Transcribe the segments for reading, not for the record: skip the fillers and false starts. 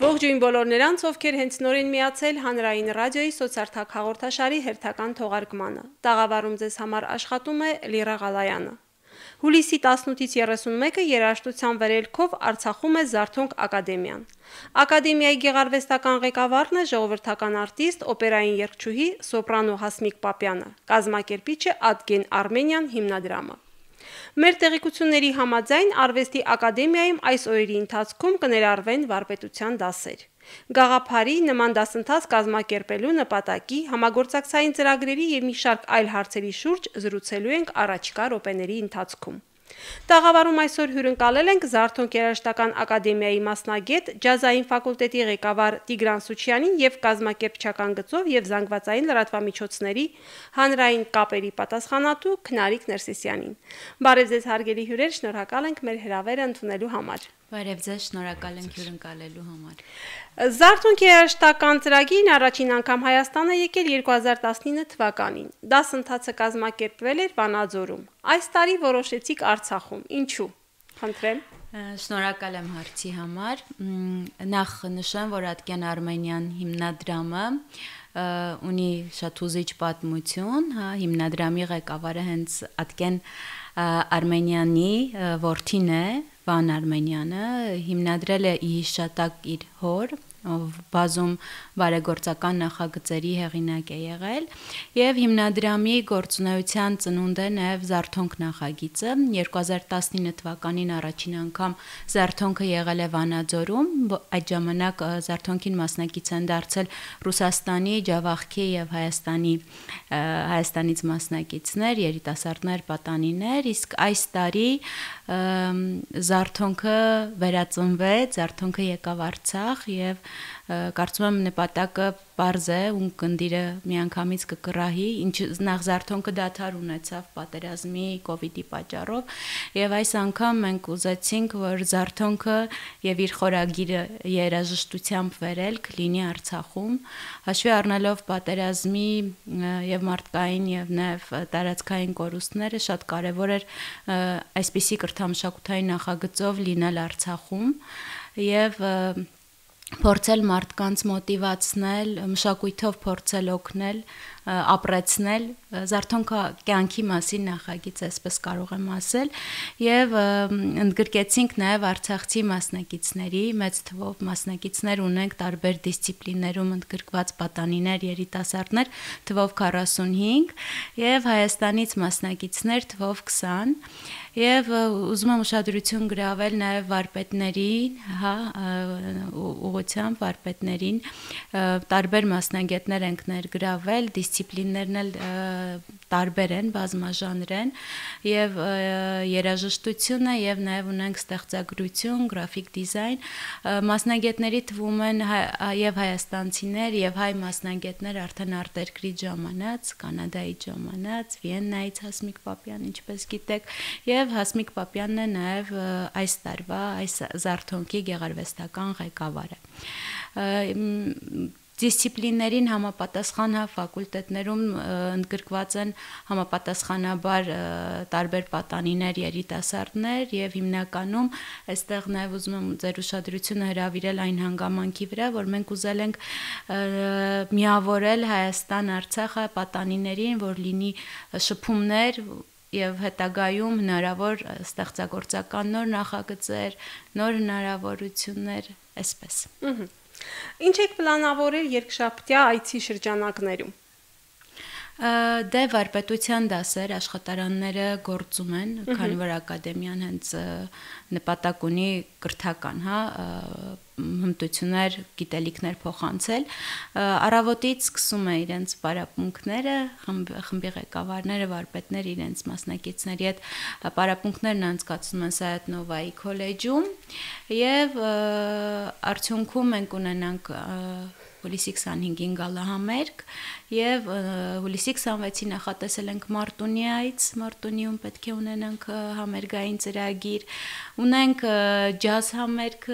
Ողջույն բոլոր նրանց, ովքեր հենց նորին միացել հանրային ռադիոյի սոցարթակ հաղորդաշարի հերթական թողարկմանը։ Տաղավարում ձեզ համար աշխատում է Լիրա Ղալայանը։ Հուլիսի 18-ից 31-ը երաժշտության վերելքով Արցախում է Զարթոնք ակադեմիան։ Ակադեմիայի գեղարվեստական ղեկավարն է ժողովրդական արտիստ, օպերային երգչուհի սոպրանո Հասմիկ Պապյանը, կազմակերպիչը Ադգեն Արմենիան հիմնադրամը։ Մեր տեղեկությունների համաձայն Արվեստի ակադեմիայում այս օրերի ընթացքում կներառվեն վարպետության դասեր։ Գաղափարի նման դասընթաց կազմակերպելու նպատակի, համագործակցային ծրագրերի եւ մի շարք այլ հարցերի շուրջ զրուցելու ենք առաջիկա րոպեների ընթացքում։ Տաղավարում այսօր հյուրընկալել ենք Զարթոնք երաժշտական ակադեմիայի մասնագետ, ջազային ֆակուլտետի ղեկավար Տիգրան Սուչյանին եւ կազմակերպչական գծով եւ զանգվածային լրատվամիջոցների հանրային կապերի պատասխանատու Քնարիկ Ներսիսյանին։ Բարև ձեզ հարգելի հյուրեր, շնորհակալ ենք մեր հրավերը ընդունելու համար։ Բարև ձեզ, շնորհակալ ենք հյուրընկալելու համար։ Զարթոնք երաժշտական ծրագիրն առաջին անգամ Հայաստան է եկել 2019 թվականին։ Դասընթացը կազմակերպվել էր Վանաձորում։ Այս տարի որոշեցիք Արցախում։ Ինչու՞։ Խնդրեմ։ Շնորհակալ եմ հարցի համար։ Նախ նշեմ, որ Ադգեն Արմենիան հիմնադրամը ունի շատ հուզիչ պատմություն, հիմնադրամի ղեկավարը հենց Ադգեն Արմենյանի որդին է, Վան Արմենյանը, հիմնադրել է ի հիշատակ իր հոր, ով բազում բարեգործական նախագծերի հեղինակ է եղել, եւ հիմնադրամի գործունեության ծնունդ է նաեւ Զարթոնք նախագիծը։ 2019 թվականին առաջին անգամ Զարթոնքը եղել է Վանաձորում, այդ ժամանակ Զարթոնքին մասնակից են դարձել Ռուսաստանի, Ջավախքի եւ Հայաստանից մասնակիցներ, երիտասարդներ, պատանիներ, իսկ այս տարի Զարթոնքը վերածնվեց, Զարթոնքը եկավ Արցախ եւ կարծում եմ նպատակը պարզ է, ու կնդիրը միանգամից կկռահի, ինչ նախ Զարթոնքը դադար ունեցավ պատերազմի, կովիդի պատճառով, եւ այս անգամ մենք ուզեցինք, որ Զարթոնքը եւ իր խորագիրը երաժշտությամբ վերելք լինի Արցախում, հաշվի առնելով պատերազմի եւ մարդկային եւ նաեւ տարածքային կորուստները, շատ կարեւոր էր այսպիսի կրթամշակութային նախագծով լինել Արցախում եւ փորձել մարդկանց մոտիվացնել, մշակույթով փորձել օգնել, ապրեցնել, Զարթոնքը կյանքի մասին նախագիծ, այսպես կարող եմ ասել, եւ ընդգրկեցինք նաեւ արցախցի մասնակիցների, մեծ թվով մասնակիցներ ունենք տարբեր դիսցիպլիններում ընդգրկված պատանիներ, երիտասարդներ, թվով 45 եւ Հայաստանից մասնակիցներ թվով 20 Եվ ուզում եմ ուշադրություն գրավել նաև վարպետներին, ուղղությամբ վարպետներին, տարբեր մասնագետներ ենք ներգրավել, դիսցիպլիններն էլ տարբեր են, բազմաժանր են, եւ երաժշտությունը եւ նաև ունենք ստեղծագրություն, գրաֆիկ դիզայն, մասնագետների թվում են եւ հայաստանցիներ եւ հայ մասնագետներ արդեն արտերկրից ժամանած, Կանադայից ժամանած, Վիեննայից Հասմիկ Պապյան, ինչպես գիտեք, եւ Հասմիկ Պապյանն է նաև այս տարվա այս Զարթոնքի գեղարվեստական ղեկավարը։ Դիսցիպլիններին համապատասխան ֆակուլտետներում ընդգրկված են համապատասխանաբար տարբեր պատանիներ, երիտասարդներ եւ հիմնականում այստեղ նաեւ ուզում եմ ձեր ուշադրությունը հրավիրել այն հանգամանքի վրա, որ մենք ուզել ենք միավորել Հայաստան-Արցախը պատանիներին, որ լինի շփումներ եւ հետագայում հնարավոր ստեղծագործական նոր նախագծեր, նոր հնարավորություններ, այսպես։ Ինչ եք պլանավորել երկշաբթյա այցի շրջանակներում։ Դե վարպետության դասեր, աշխատարանները գործում են, քանի որ ակադեմիան հենց նպատակ ունի կրթական, հմտություններ, գիտելիքներ փոխանցել, առավոտից սկսում է իրենց պարապմունքները, խմբի ղեկավարները, վարպետները իրենց մասնակիցների հետ պարապմունքներն անցկացնում են Սայաթ Նովայի քոլեջում եւ արդյունքում մենք ունենանք հուլիսի 25-ին գալահամերգ եւ հուլիսի 26-ին նախատեսել ենք Մարտունիայից, Մարտունիում պետք է ունենանք համերգային ծրագիր, ունենք ջազ համերգ,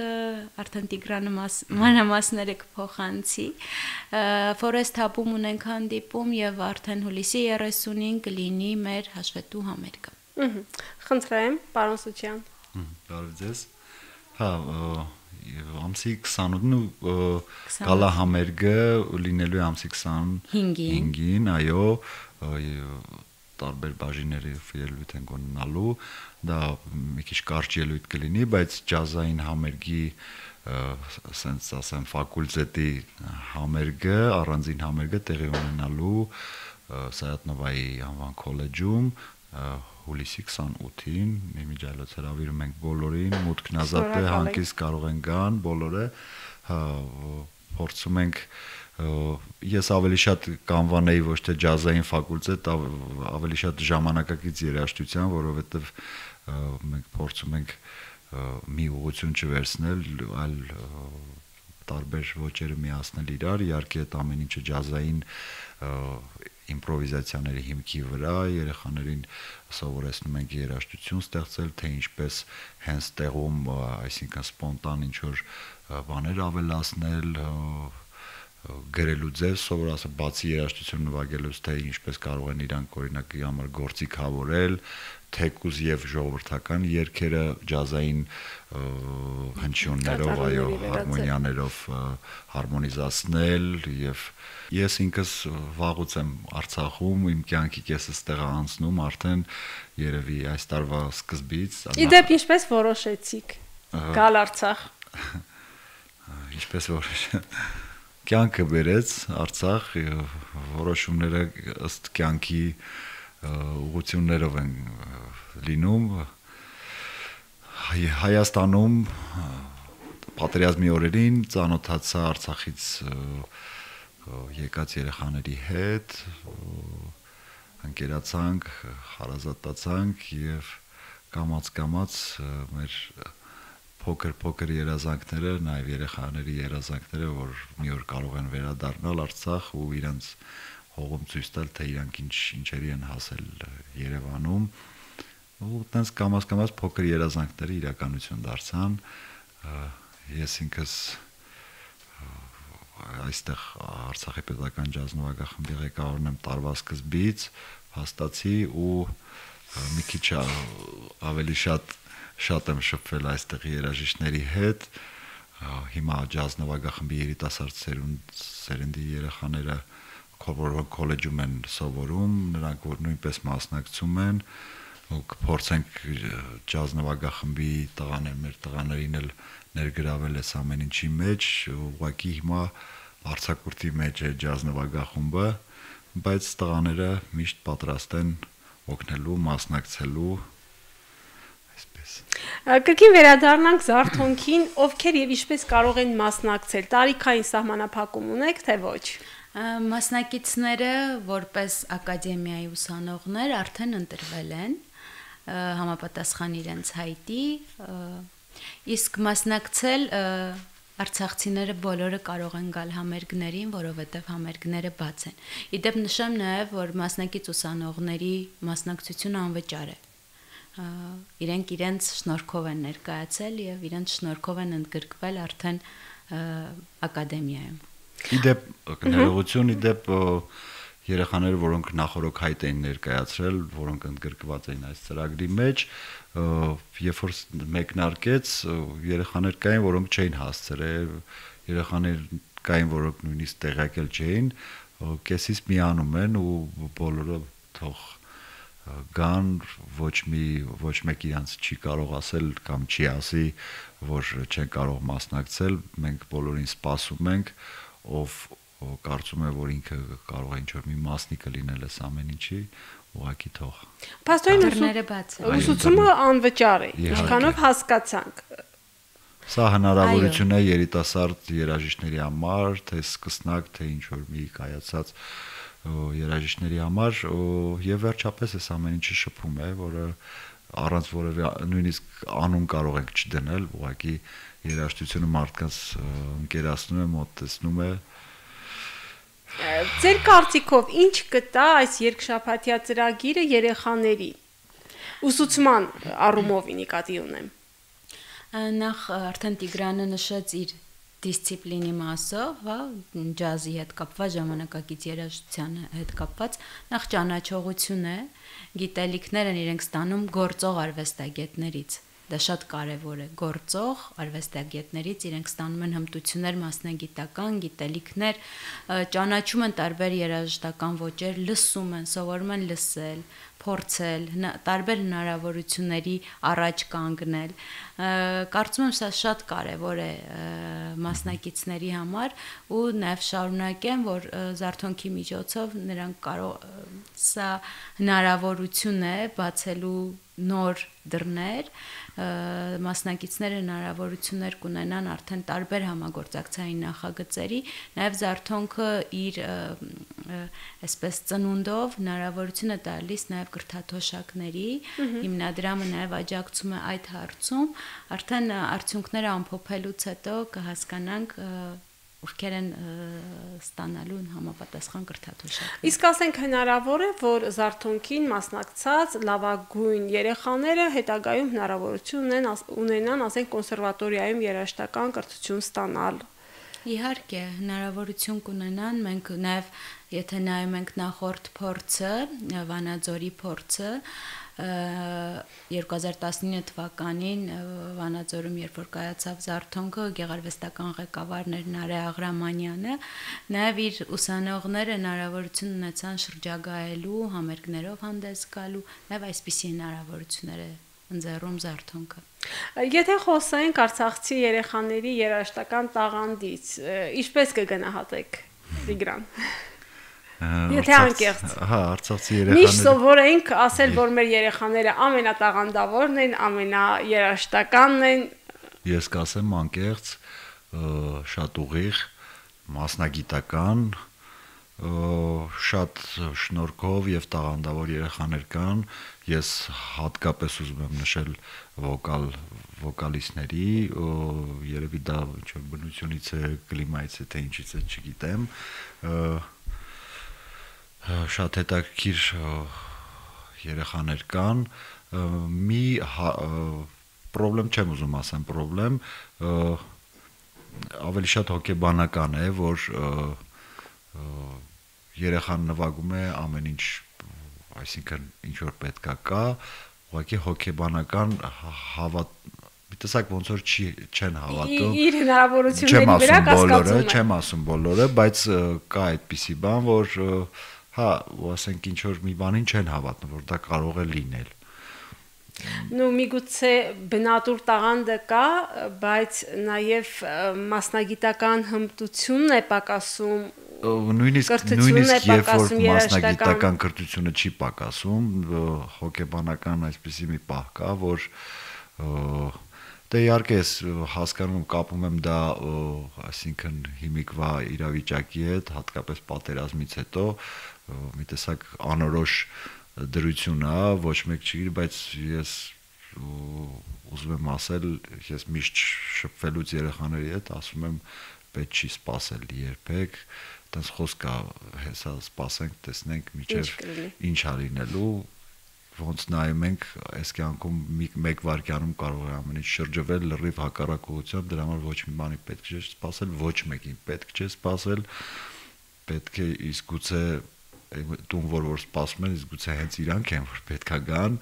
արդեն Տիգրանը մանրամասները կփոխանցի, Forest Hub-ում ունենք հանդիպում եւ արդեն հուլիսի 30-ին կլինի մեր հաշվետու համերգը։ Խնդրեմ, պարոն Սուչյան։ Բարև ձեզ։ ամսի 28-ն գալա համերգը լինելու է ամսի 25-ին, այո, տարբեր բաժիններով ելույթ են ունենալու, դա մի քիչ կարճ ելույթ կլինի, բայց ջազային համերգի ասենց ասեմ ֆակուլտետի համերգը, առանձին համերգը տեղի ունենալու Սայաթնովայի անվան քոլեջում հուլիսի 28-ին միջայլոց հրավիրում ենք բոլորին, մուտքն ազատ է, հանգիստ կարող են գան բոլորը, փորձում ենք ես ավելի շատ կանվանեի ոչ թե ջազային ֆակուլտետ, ավելի շատ ժամանակակից երաժշտության, որովհետև մենք փորձում ենք մի ուղղություն չվերցնել, այլ տարբեր ոճերը միացնել իրար, իհարկե այդ ամեն ինչը ջազային իմպրովիզացիաների հիմքի վրա երեխաներին սովորեցնում ենք երաժշտություն ստեղծել, թե ինչպես հենց տեղում, այսինքն սպոնտան ինչ որ բաներ ավելացնել, գրելու ձև սովորացնել, բացի երաժշտություն նվագելուց, թե ինչպես կարող են իրանք օրինակի համար գործիքավորել, թեկուզ եւ ժողովրդական երգերը ջազային հնչյուններով, այո, հարմոնիաներով հարմոնիզացնել եւ ես ինքս վաղուց եմ Արցախում, իմ կյանքի կեսս տեղ անցնում, արդեն երևի այս տարվա սկզբից։ Իդեպ ինչպես որոշեցիք գալ Արցախ։ Ինչպես կյանքը բերեց Արցախ, որոշումները ըստ կյանքի ուղղություններով են լինում Հայաստանում պատերազմի օրերին ծանոթացա Արցախից եկած երեխաների հետ, ընկերացանք, հարազատացանք եւ կամաց մեր փոքր երազանքները, նաեւ երեխաների երազանքները, որ մի օր կարող են վերադառնալ Արցախ ու իրենց հողում ցույց տալ, թե իրանք ինչերի են հասել Երևանում, ու տենց կամաց փոքր երազանքները իրականություն դարձան, ես ինքս այստեղ Արցախի պետական ջազ նվագախմբի ղեկավարն եմ տարվա սկզբից, հաստացի ու մի քիչ ավելի շատ եմ շփվել այստեղ երաժիշտների հետ, հիմա ջազ նվագախմբի երիտասարդ սերնդի երեխաները քոլեջում են սովորում, նրանք որ նույնպես մասնակցում են, ու կփորձենք ջազ նվագախմբի մեր տղաներին էլ ներգրավել այս ամեն ինչի մեջ, ուղղակի հիմա արձակուրդի մեջ է ջազ նվագախումբը, բայց տղաները միշտ պատրաստ են օգնելու, մասնակցելու, այսպես։ Կրկին վերադառնանք Զարթոնքին, ովքեր եւ ինչպես կարող են մասնակցել, տարիքային սահմանափակում ունեք, թե ոչ։ Մասնակիցները որպես ակադեմիայի ուսանողներ արդեն ընտրվել են համապատասխան իրենց հայտի, իսկ մասնակցել արցախցիները բոլորը կարող են գալ համերգներին, որովհետև համերգները բաց են։ Իդեպ նշեմ նաև, որ մասնակից ուսանողների մասնակցությունը անվճար է։ Իրենք իրենց շնորհքով են ներկայացել եւ իրենց շնորհքով են ընդգրկվել արդեն ակադեմիայում։ Իդեպ ներողություն, իդեպ երեխաները, որոնք նախորոք հայտ էին ներկայացրել, որոնք ընդգրկված էին այս ծրագրի մեջ, երբ որ մեկնարկեց, երեխաներ կային, որոնք չէին հասցրել, երեխաներ կային, որոնք նույնիսկ տեղյակել չէին, կեսից միանում են ու բոլորը թող գան, ոչ մեկ իրանց չի կարող ասել կամ չի ասի, որ չեն կարող մասնակցել, մենք բոլորին սպասում ենք, ով կարծում է, որ ինքը կարող է ինչ-որ մի մասնիկը լինել այս ամեն ինչի, ուղղակի թող։ Պաստորին ուսուցումը անվճար է, ինչքանով հասկացանք։ Սա հնարավորություն է երիտասարդ երաժիշտների համար, թե սկսնակ, թե ինչ-որ մի կայացած երաժիշտների համար, եւ վերջապես այս ամեն ինչը շփում է, որը առանց որևէ նույնիսկ անուն կարող ենք չդնել, ուղղակի երաժշտությունը մարդկանց ընկերացնում է, մոտեցնում է։ Ձեր կարծիքով ինչ կտա այս երկշաբաթյա ծրագիրը երեխաների ուսուցման առումով նկատի ունեմ։ Նախ արդեն Տիգրանը նշեց իր դիսցիպլինի մասով, հա, ջազի հետ կապված, ժամանակակից երաժշտության հետ կապված, նախ ճանաչողություն է, գիտելիքներ են իրենք ստանում գործող արվեստագետներից, դա շատ կարևոր է, գործող արվեստագետներից իրենք ստանում են հմտություններ, մասնագիտական գիտելիքներ, ճանաչում են տարբեր երաժշտական ոճեր, լսում են, սովորում են լսել, փորձել, տարբեր հնարավորությունների առաջ կանգնել։ Կարծում եմ սա շատ կարևոր է մասնակիցների համար ու նաև շարունակեմ, որ զարթոնքի միջոցով նրանք սա հնարավորություն է բացելու նոր դռներ, մասնակիցները հնարավորություններ կունենան արդեն տարբեր համագործակցային նախագծերի, նաև զարթոնքը իր այսպես ծնունդով հնարավորություն է տալիս նաև կրթաթոշակների, հիմնադրամը նաև աջակցում է այդ հարցում, արդեն արդյունքները ամփոփելուց հետո կհասկանանք ովքեր են ստանալու համապատասխան կրթաթոշակներ։ Իսկ ասենք հնարավոր է, որ զարթոնքին մասնակցած լավագույն երեխաները հետագայում հնարավորություն ունենան, ասենք կոնսերվատորիայում երաժշտական կրթություն ստանալ։ Իհարկե, հնարավորություն կունենան, մենք նաև եթե նայում ենք նախորդ փորձը, Վանաձորի փորձը, 2019 թվականին Վանաձորում երբ որ կայացավ զարթոնքը, գեղարվեստական ղեկավարն էր Նարե Աղրամանյանը, նաև իր ուսանողները հնարավորություն ունեցան շրջագայելու, համերգներով հանդես գալու, նաև այսպիսի հնարավորություններ է ընձեռում զարթոնքը։ Եթե խոսենք արցախցի երեխաների երաժշտական տաղանդից, ինչպես կգնահատեք Տիգրան։ Եթե անկեղծ։ Հա, արցախցի երեխաները։ Միշտ սովորենք ասել, որ մեր երեխաները ամենատաղանդավորն են, ամենաերաժշտականն են։ Ես կասեմ անկեղծ, շատ ուղիղ, մասնագիտական, շատ շնորհքով եւ տաղանդավոր երեխաներ կան։ Ես հատկապես ուզում եմ նշել վոկալիստների, երևի դա ինչ-որ բնությունից է, կլիմայից է, թե ինչից է, չգիտեմ։ Շատ հետաքրքիր երեխաներ կան, մի պրոբլեմ չեմ ուզում ասեմ, պրոբլեմ ավելի շատ հոգեբանական է, որ երեխան նվագում է ամեն ինչ, այսինքն ինչ որ պետքա կա, ուղղակի հոգեբանական մի տեսակ ոնց որ չեն հավատում։ Իր հնարավորությունների վրա կասկածում է։ Չեմ ասում բոլորը, բայց կա այդպիսի բան, որ հա, ասենք ինչ որ մի բանին չեն հավատում, որ դա կարող է լինել։ Նու միգուցե բնատուր տաղանդը կա, բայց նաև մասնագիտական հմտությունն է պակասում։ Նույնիսկ երբ որ մասնագիտական կրթությունը չի պակասում, հոգեբանական այսպիսի մի պահ կա, որ դե իհարկե ես հասկանում կապում եմ դա, այսինքն հիմիկվա իրավիճակի հետ, հատկապես պատերազմից հետո, մի տեսակ անորոշ դրություն է, ոչ մեկ չի, բայց ես ուզում եմ ասել, ես միշտ շփվելուց երեխաների հետ ասում եմ, պետք չի սпасել երբեք, այդպես խոսք կա, հեսա սпасենք, տեսնենք միջև ինչ ա լինելու, ոնց նայում ենք, այս կյանքում մեկ վայրկյանում կարող է ամեն ինչ շրջվել լրիվ հակառակ ուղղությամբ, դրա համար ոչ մի բանի պետք չէ սпасել, ոչ մեկին պետք չէ սпасել, պետք է իսկ գուցե տուն որ սպասում են, իսկ գուցե հենց իրանք են, որ պետքա գան,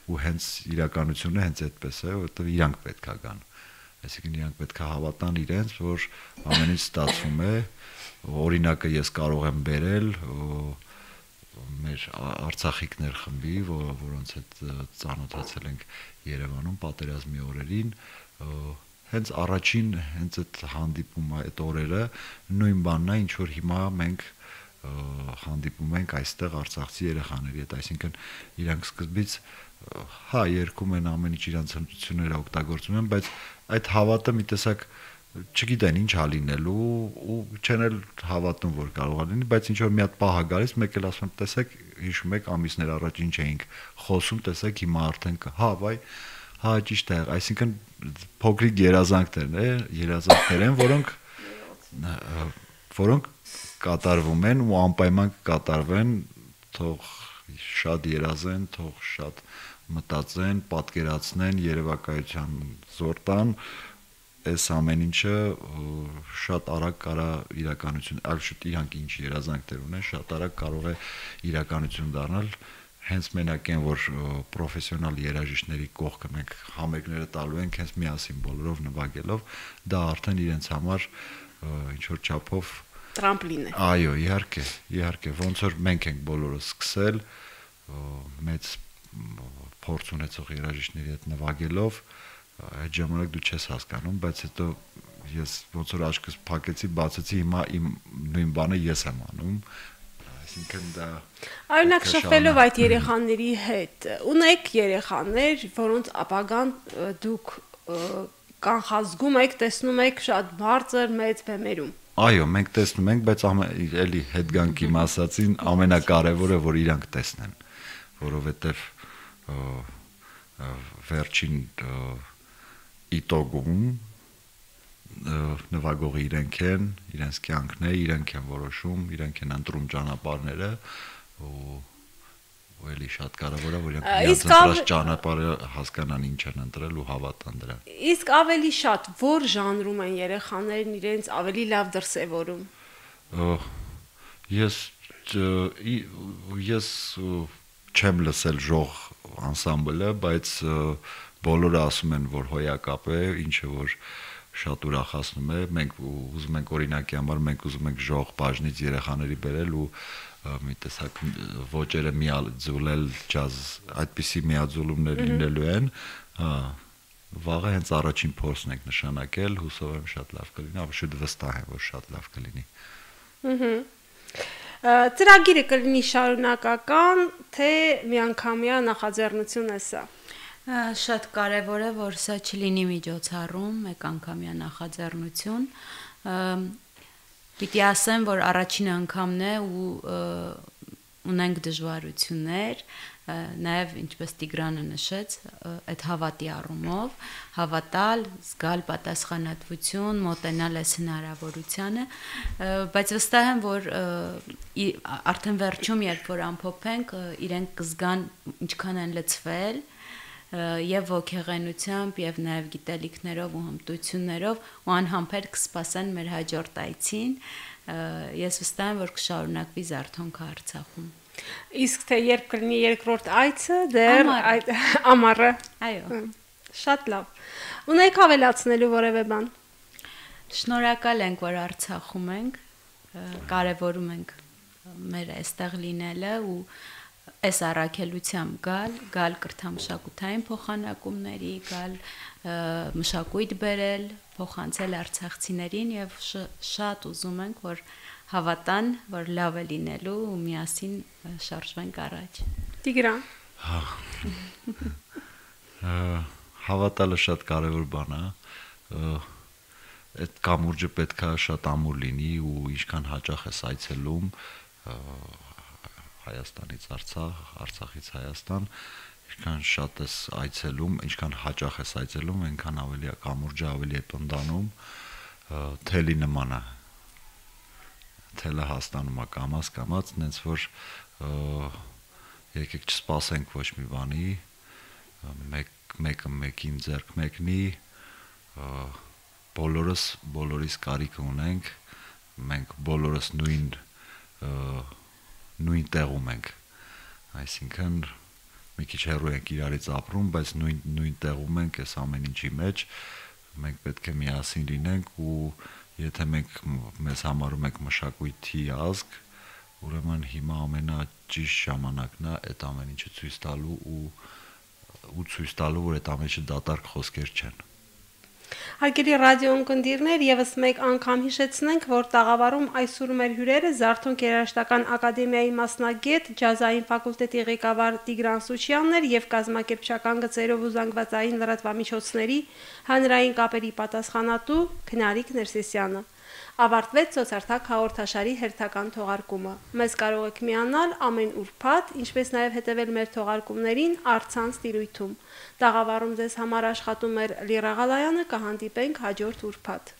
ու հենց իրականությունը հենց այդպես է, որովհետև իրանք պետքա գան։ Այսինքն իրանք պետքա հավատան իրենց, որ ամեն ինչ ստացվում է, օրինակը ես կարող եմ բերել մեր արցախիկներ խմբի, որոնց հետ ծանոթացել ենք Երևանում պատերազմի օրերին, հենց առաջին հենց այդ հանդիպումը, այդ օրերը նույն բանն է, ինչ որ հիմա մենք հանդիպում ենք այստեղ արցախցի երեխաների հետ, այսինքն իրանք սկզբից հա երգում են ամեն ինչ իրանց հմտությունները օգտագործում են, բայց այդ հավատը մի տեսակ չգիտեն ինչ ա լինելու ու չեն էլ հավատում որ կարող է լինի, բայց ինչ որ մի հատ պահ է գալիս, մեկ էլ ասում եմ, տեսեք, հիշում եք ամիսներ առաջ ինչ էինք խոսում, տեսեք հիմա արդեն հա, վայ, հա ճիշտ է, այսինքն փոքրիկ երազանքներ են, որոնք կատարվում են ու անպայման կկատարվեն, թող շատ երազեն, թող շատ մտածեն, պատկերացնեն, երևակայության զոր տան, այս ամեն ինչը շատ արագ կարա իրականություն, այլ շուտ իրանք ինչ երազանքներ ունեն, շատ արագ կարող է իրականություն դառնալ հենց մենակ են որ պրոֆեսիոնալ երաժիշտների կողքը մենք համերգները տալու ենք հենց միասին բոլորով նվագելով, դա արդեն իրենց համար ինչ որ չափով տրամպլին է։ Այո, իհարկե, ոնց որ մենք ենք բոլորը սկսել մեծ փորձ ունեցող երաժիշտների հետ նվագելով, այդ ժամանակ դու չես հասկանում, բայց հետո ես ոնց որ աչքս փակեցի, բացեցի, հիմա իմ նույն բանը ես եմ անում, այսինքն դա Օրինակ շփվելով այդ երեխաների հետ, ունեք երեխաներ, որոնց ապագան դուք կանխազգում եք, տեսնում եք շատ բարձր մեծ բեմերում։ Այո, մենք տեսնում ենք, բայց էլի հետ գանք իմ ասածին, ամենակարևորը որ իրանք տեսնեն, որովհետև վերջին իտոգում նվագողը իրենք են, իրենց կյանքն է, իրենք են որոշում, իրենք են ընտրում ճանապարհները ու էլի շատ կարևոր է որ իրենք ընտրած ճանապարհը հասկանան ինչ են ընտրել ու հավատան դրան։ Իսկ ավելի շատ որ ժանրում են երեխաներն իրենց ավելի լավ դրսևորում։ Ես չեմ լսել ժող անսամբլը, բայց բոլորը ասում են որ հոյակապ է, ինչը որ շատ ուրախացնում է, մենք ուզում ենք օրինակի համար մենք ուզում ենք ժող բաժնից երեխաների բերել ու մի տեսակ ոճերը միաձուլել ջազ, այդպիսի միաձուլումներ լինելու են, վաղը հենց առաջին փորձն ենք նշանակել, հուսով եմ շատ լավ կլինի, ավելի վստահ եմ որ շատ լավ կլինի։ Ծրագիրը կլինի շարունակական, թե միանգամյա նախաձեռնություն է սա։ Շատ կարևոր է, որ սա չլինի միջոցառում, մեկ անգամյա նախաձեռնություն։ Պիտի ասեմ, որ առաջին անգամն է ու ունենք դժվարություններ, նաև ինչպես Տիգրանը նշեց, այդ հավատի առումով, հավատալ, զգալ պատասխանատվություն, մոտենալ այս հնարավորությանը, բայց վստահ եմ, որ արդեն վերջում, երբ որ ամփոփենք, իրենք կզգան ինչքան են լցվել եւ ոգեղենությամբ եւ նաեւ գիտելիքներով ու հմտություններով ու անհամբեր կսպասեն մեր հաջորդ այցին ես վստահ եմ որ կշարունակվի Զարթոնքը Արցախում իսկ թե երբ կլինի երկրորդ այցը դեռ այդ ամառը այո շատ լավ ունեք ավելացնելու որևէ բան շնորհակալ ենք որ Արցախում ենք կարևորում ենք մեր այստեղ լինելը ու այս առաքելությամբ գալ կրթամշակութային փոխանակումների, գալ մշակույթ բերել, փոխանցել արցախցիներին եւ շատ ուզում ենք, որ հավատան, որ լավ է լինելու ու միասին շարժվենք առաջ։ Տիգրան։ Հավատալը շատ կարևոր բան է։ Այդ կամուրջը պետքա շատ ամուր լինի ու ինչքան հաճախ ես այցելում Հայաստանից Արցախ, Արցախից Հայաստան, ինչքան շատ ես այցելում, ինչքան հաճախ ես այցելում, այնքան ավելի է կամուրջը ավելի է տոնդանում, թելի նման է։ Թելը հաստանում է կամաց, նենց որ եկեք չսպասենք ոչ մի բանի, մեկը մեկին ձեռք մեկնի, բոլորիս կարիք ունենք, մենք բոլորս նույն տեղում ենք, այսինքն մի քիչ հեռու ենք իրարից ապրում, բայց նույն տեղում ենք այս ամեն ինչի մեջ, մենք պետք է միասին լինենք ու եթե մենք մեզ համարում ենք մշակույթի ազգ, ուրեմն հիմա ամենաճիշտ ժամանակն է այդ ամեն ինչը ցույց տալու ու ցույց տալու, որ այդ ամեն ինչը դատարկ խոսքեր չեն։ Հարգելի ռադիոընկերներ, եւս մեկ անգամ հիշեցնենք, որ տաղավարում այսօր մեր հյուրերը Զարթոնք երաժշտական ակադեմիայի մասնագետ, ջազային ֆակուլտետի ղեկավար Տիգրան Սուչյանն էր եւ կազմակերպչական գծերով ու զանգվածային լրատվամիջոցների հանրային կապերի պատասխանատու Քնարիկ Ներսեսյանը։ Ավարտվեց Սոցարտակ հաղորդաշարի հերթական թողարկումը։ Մեզ կարող եք միանալ ամեն ուրբաթ, ինչպես նաև հետևել մեր թողարկումներին առցանց տիրույթում։ Տաղավարում ձեզ համար աշխատում էր Լիրա Ղալայանը, կհանդիպենք հաջորդ ուրբաթ։